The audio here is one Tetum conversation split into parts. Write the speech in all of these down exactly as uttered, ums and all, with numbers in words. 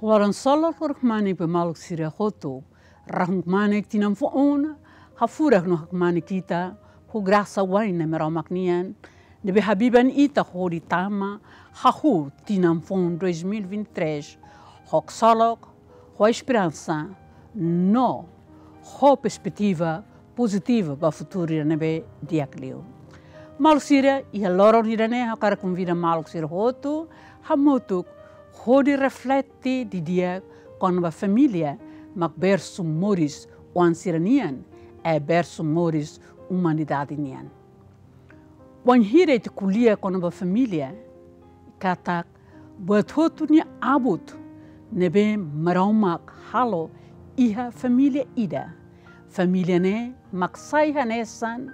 Loron solok, loron kmanek ba maluk sira hotu. Rahun kmanek tinan foun, hafurak no hakmanek ita, ho grasa wa'in Nai Maromak nian, ne'ebé habiban ita hodi tama, hahú tinan foun dois mil e vinte e três, ho ksolok, ho esperansa, no ho perspetiva pozitiva ba futuru ida ne'ebé di'ak liu. Maluk sira, iha loron ida-ne'e ha'u hakarak konvida maluk sira hotu, hamutuk, hodi reflete didi'ak kona-ba família mak bersu moris oan sira-nian, i bersu moris umanidade nian. Wainhira ita ko'alia kona-ba família, katak buat hotu nia abut ne'ebé Maromak halo iha família ida. Família ne'e mak sai hanesan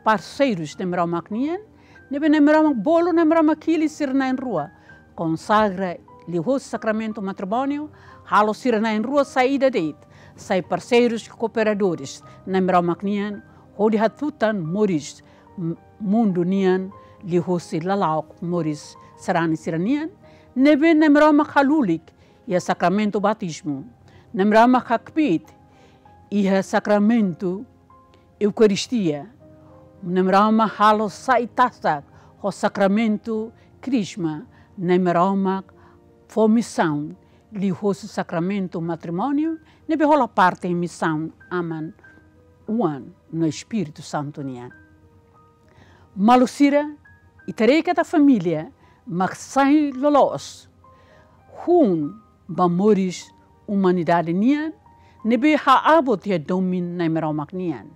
parseirus Nai Maromak nian, ne'ebé Nai Maromak bolu, Nai Maromak hili sira na'in-rua, konsagra liuhosi sakramentu matrimóniu, halo sira na'in-rua sai ida de'it, sai parseirus, kooperadores Nai Maromak nian, hodi hatutan moris m-, mundu nian liuhosi lala'ok moris sarani sira-nian, ne'ebé Nai Maromak halulik iha sakramentu batizmu, Nai Maromak hakbiit iha sakramentu Eukaristia, Nai Maromak halo sai tasak ho sakramentu Krisma, Nai Maromak fó misaun liuhosi sakramentu matrimóniu, ne'ebé hola parte misaun Aman, Oan no Espíritu Santu nian. Maluk sira, ita haree katak família mak sai loloos hun ba moris umanidade nian, ne'ebé haabut iha domin Nai Maromak nian.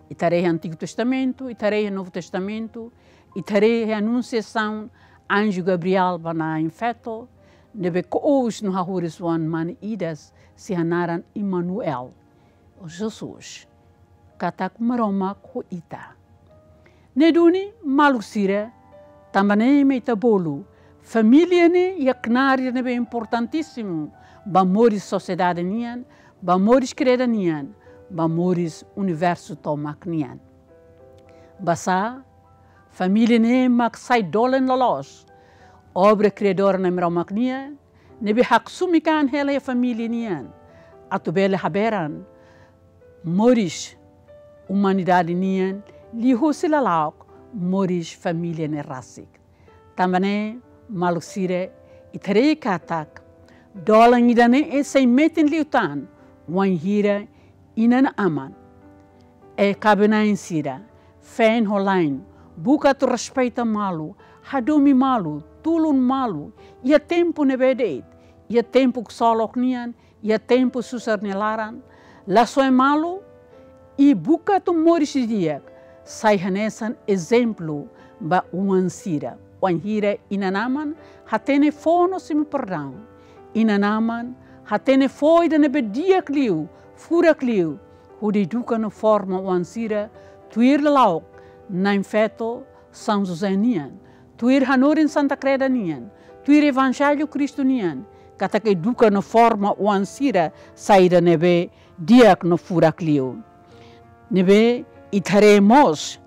Ita haree iha Antigu Testamentu, ita haree iha Novu Testamentu, ita haree iha Anunsiasaun anju Gabriel ba na'in-feto, ne'ebé ko'us no hahoris oan mane ida, sei hanaran Imanuel, ou Jesus, katak Maromak ho ita. Ne'e duni, maluk sira, tanba ne'e mak ita bolu, família ne'e iha knaar ida ne'ebé importantísimu ba moris sosiedade nian, ba moris kreda nian, ba moris universu tomak nian. Basá, família ne'e mak sai dolen loloos obra kriadora Nai Maromak nian, ne'ebé haksumikan hela iha família nian, atu bele haberan moris umanidade nian, liuhosi lala'ok moris família ne'e rasik. Tanba ne'e, maluk sira, ita haree katak dolan ida-ne'e sei metin liután wainhira inan-aman, i kaben-na'in sira, feen ho la'en, buka atu respeita malu, hadomi malu, tulun malu, iha tempu ne'ebé de'it, iha tempu ksolok nian, iha tempu susar nia laran, la soe malu, i buka atu moris didi'ak, sai hanesan ezemplu ba oan sira. Wainhira inan-aman hatene fó no simu perdaun. Inan-aman hatene fó ida ne'ebé di'ak liu, furak liu, hodi eduka no forma oan sira, tuir lala'ok na'in-feto São José nian, tuir hanorin Santa Kreda nian, tuir Evanjellu Kristu nian, katak eduka no forma oan sira sai ida ne'ebé di'ak no furak liu. Ne'ebé ita haree mós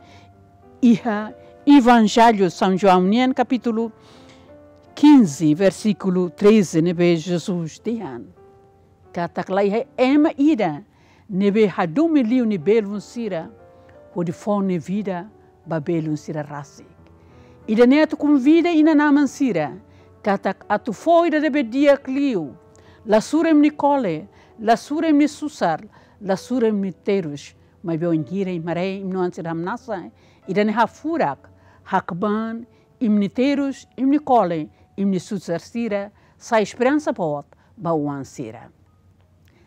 iha Evanjellu São João nian kapítulu quinze, versíkulu treze, ne'ebé Jesus dehan katak la iha ema ida ne'ebé hadomi liu nia belun sira hodi fó nia vida ba belun sira rasik. Ida-ne'e atu konvida inan-aman sira katak atu fó ida ne'ebé di'ak liu, la sura imi-nia kole, la sura imi-nia susar, la sura imi-nia terus, maibé wainhira imi haree imi-nia oan sira hamnasa, ida-ne'e hafurak, hakban imi-nia terus, imi-nia kole, imi-nia susar sira, sai esperansa boot ba oan sira.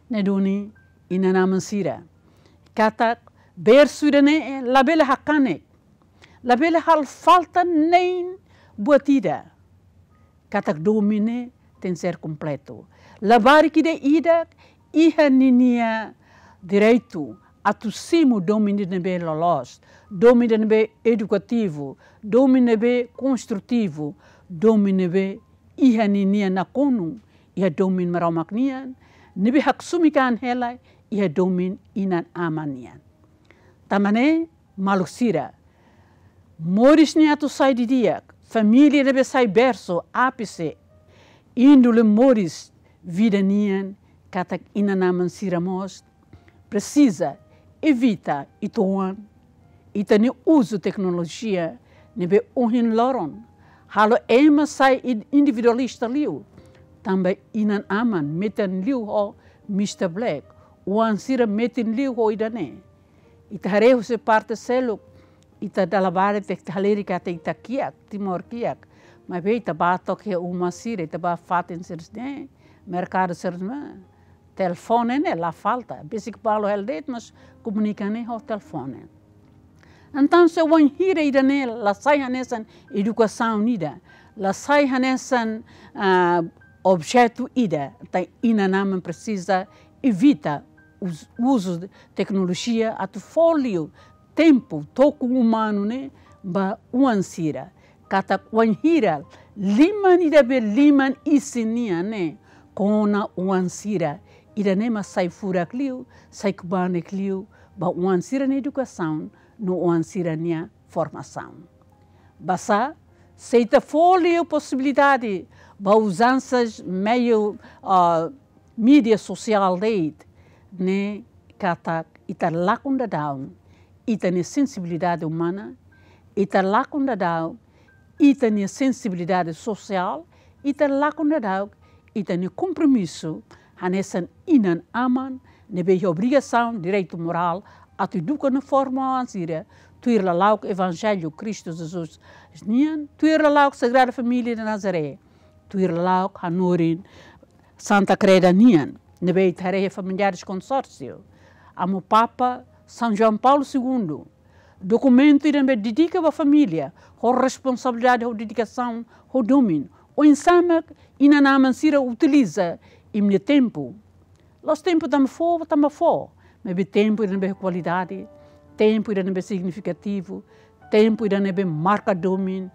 Ne'e duni, inan-aman sira, katak bersu ida-ne'e labele hakanek, labele halo falta nein buat ida. Katak domin ne'e tenke ser kompletu. Labarik ida-idak iha ninia direitu atu simu domin ida ne'ebé loloos, domin ida ne'ebé edukativu, domin ne'ebé konstrutivu, domin ne'ebé iha ninia nakonu iha domin Maromak nian, ne'ebé haksumikan hela iha domin inan-aman nian. Tanba ne'e, maluk sira, moris ne'e atu sai didi'ak, família ne'ebé sai bersu, ápice, índole moris vida nian, katak inan-aman sira mós presiza evita uitoan ita-nia uzu teknolojia ne'ebé ohin loron halo ema sai in-, individualista liu. Tanba inan-aman metin liu ho Mister Black, oan sira metin liu ho ida-ne'e. Ita haree husi parte seluk, ita dala barak ita halerik katak ita kiak, Timor kiak. Maibé ita bá took iha uma sira, ita bá fatin sira ne'e, merkadu sira ne'e, telefone ne'e la falta. Besik balu hela de'it, mas komunika ne'e ho telefone. Entaun, se wainhira ida-ne'e la sai hanesan edukasaun ida, la sai hanesan, ah, objetu ida, entaun inan-aman presiza evita us-, uzu teknolojia atu fó liu tempu, toku umanu ne'e ba oan sira. Katak wainhira liman ida be liman isin nian ne'e kona oan sira, ida-ne'e mak sai furak liu, sai kubanek liu ba oan sira-nia edukasaun no oan sira-nia formasaun. Basá, se ita fó liu posibilidade ba uzansas meiu, ah, mídia sosiál de'it, ne'e katak ita lakon daudaun ita-nia sensibilidade umana, ita lakon daudaun ita-nia sensibilidade sosiál, ita lakon daudaun ita-nia kompromisu hanesan inan-aman ne'ebé iha obrigasaun, direitu morál atu eduka no forma oan sira tuir lala'ok Evanjellu Kristu Jesus nian, tuir lala'ok Sagrada Família de Nazaré, tuir lala'ok hanorin Santa Kreda nian, ne'ebé ita haree iha Familiares Consórcio, Amu Papa São João Paulo Segundo, dokumentu ida ne'ebé dedika ba família, ho responsabilidade, ho dedikasaun, ho domin. Oinsá mak inan-aman sira utiliza imi-nia tempu. La'ós tempu tanba fó, tanba fó. Maibé tempu ida ne'ebé kualidade, tempu ida ne'ebé signifikativu, tempu ida ne'ebé marka domin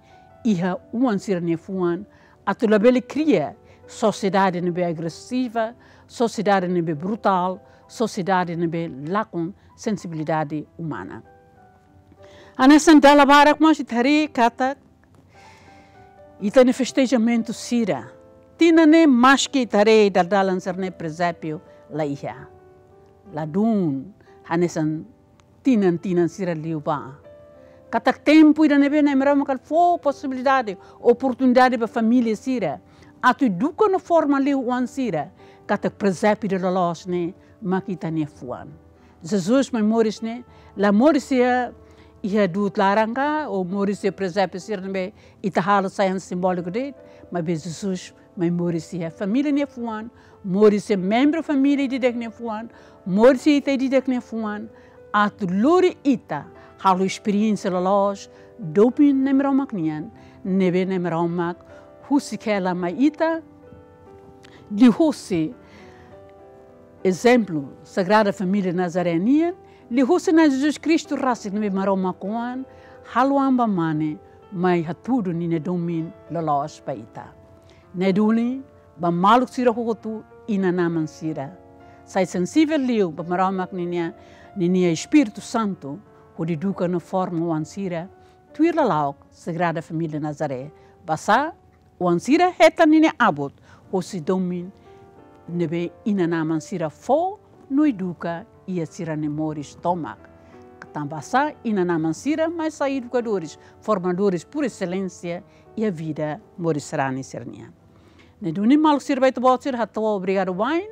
iha oan sira-nia fuan, atu labele kria sosiedade ne'ebé agresiva, sosiedade ne'ebé brutál, sosiedade ne'ebé lakon sensibilidade umana. Hanesan dala barak mós ita haree katak ita-nia festejamentu sira, tinan ne'e maski ita haree dala-dalan sira-ne'e presépiu la iha, ladún hanesan tinan-tinan sira liubá. Katak tempu ida ne'ebé Nai Maromak fó posibilidade, oportunidade ba família sira atu eduka no forma liu oan sira, katak presépiu ida loloos ne'e mak ita-nia fuan. Jesus mai moris ne'e la moris iha, iha du'ut laran ka, ou moris iha presépiu sira ne'ebé ita halo sai hanesan simbóliku de'it, maibé Jesus mai moris iha família nia fuan, moris iha membru família ida-idak nia fuan, moris iha ita ida-idak nia fuan, atu lori ita halo esperiénsia loloos domin Nai Maromak nian, ne'ebé Nai Maromak husik hela mai ita, liuhusi ezemplu Sagrada Família Nazaré nian, liuhusi Na'i Jesus Kristu rasik ne'ebé Maromak Oan halo an ba mane mai hatudu ninia domin loloos ba ita. Ne'e duni, ba maluk sira hotu, inan-aman sira, sai sensivel liu ba Maromak ninia, ninia Espíritu Santu, hodi eduka no forma oan sira tuir lala'ok Sagrada Família Nazaré. Basá, oan sira hetan ninia abut hosi domin ne'ebé inan-aman sira fó no eduka iha sira-nia moris tomak. Katak basá, inan-aman sira mai sai edukadores, formadores por excelência iha vida moris sarani sira-nian. Ne'e duni, maluk sira, ba ita-boot sira hato'o obrigadu wa'in,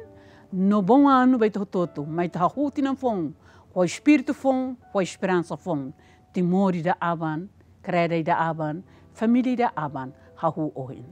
no bom ano ba ita hotu-hotu, mai ita hahú tinan foun, ho espíritu foun, ho esperansa foun. Timor ida aban, Kreda ida aban, família ida aban, hahú ohin.